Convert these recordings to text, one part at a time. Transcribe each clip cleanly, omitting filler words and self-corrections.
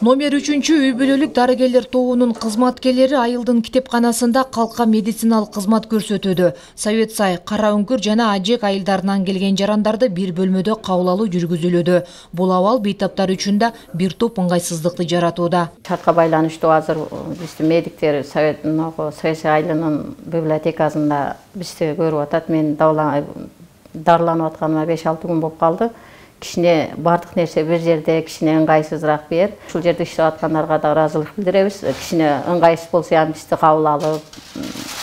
Номер 3 үй бүлөлүк дарыгерлер тобунун кызматкерлери айылдын китепканасында калкка медициналык кызмат көрсөтүүдө. Совет Сай, Кара Үңкүр жана Ажек айылдарынан келген жарандарды бир бөлмөдө кабыл алуу жүргүзүлүүдө. Бул абал бейтаптар үчүн да бир топ ыңгайсыздыкты жаратууда. Шартка байланыштуу азыр биздин медиктер Совет Сай айылынын библиотекасында бизди көрүп атат. Мен дарыланып атканыма 5-6 күн болуп калды. Кишине бардык нерсе бир жерде, кишине ыңгайсызыраак бер. Ушул жерде иштеп аткандарга да ыраазычылык билдиребиз. Кишине ыңгайсыз болсо ham бизди кабыл алып,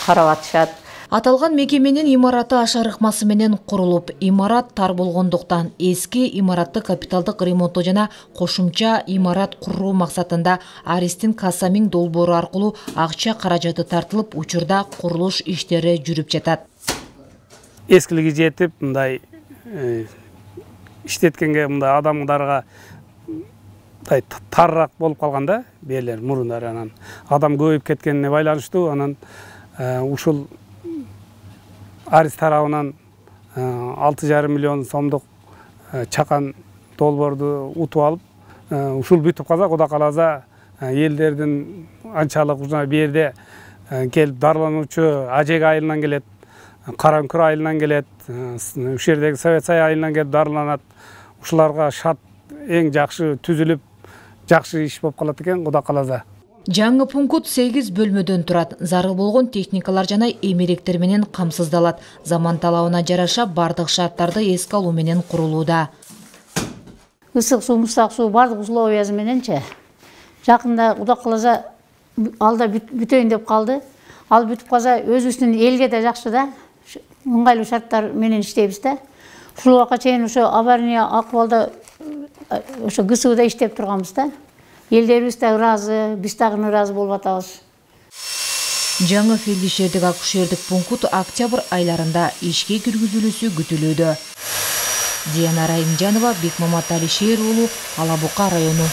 карап атышат. Аталган мекеменин имараты ашар ыкмасы менен курулуп, имарат тар болгондуктан эски имаратты капиталдык ремонттоо жана кошумча имарат куруу максатында Аристин Касамин долбоору аркылуу акча каражаты тартылып, учурда курулуш иштери жүрүп жатат. Эскилиги жетип, мындай иштеткенге мындай адамдарга тарыраак болуп калганда, берлер мурундар анан адам көбөйүп кеткенине байланыштуу, анан ушул Арис тарабынан 6,5 миллион сомдук чакан долбоорду утуп алып, ушул бүтүп калса, Кудай кааласа элдердин анчалык бу жерде келип дарылануучу Ажек айылынан келет, Кара Үңкүр айылынан келет, ушул жердеги Совет Сай айылынан келип дарыланат. Ушуларга шарт эң жакшы түзүлүп, жакшы иш болуп калат экен, Кудай кааласа. Жаңы пункт 8 бөлмөдөн турат. Зарыл болгон техникалар жана эмеректер менен камсыздалат. Заман талабына жараша бардык шарттарды эске алуу менен курулууда. Ысык суу, муздак суу бардык условиясы мененчи. Жакында Кудай кааласа алда бүтөйүн деп калды. Ал бүтүп калса өзүбүздүн элге да жакшы да. Ыңгайлуу шарттар менен иштейбиз да. Ушул убакка чейин ошо авария акыбалда ошо ГСУда иштеп турганбыз да. Элдерибиз да ыраазы, биз дагы ыраазы болуп атабыз. Жаңы фельдшердик акушердик пункт октябрь айларында ишке киргизилүүсү күтүлүүдө. Диана Райымжанова, Бекмамат Алишер уулу, Ала Бука району.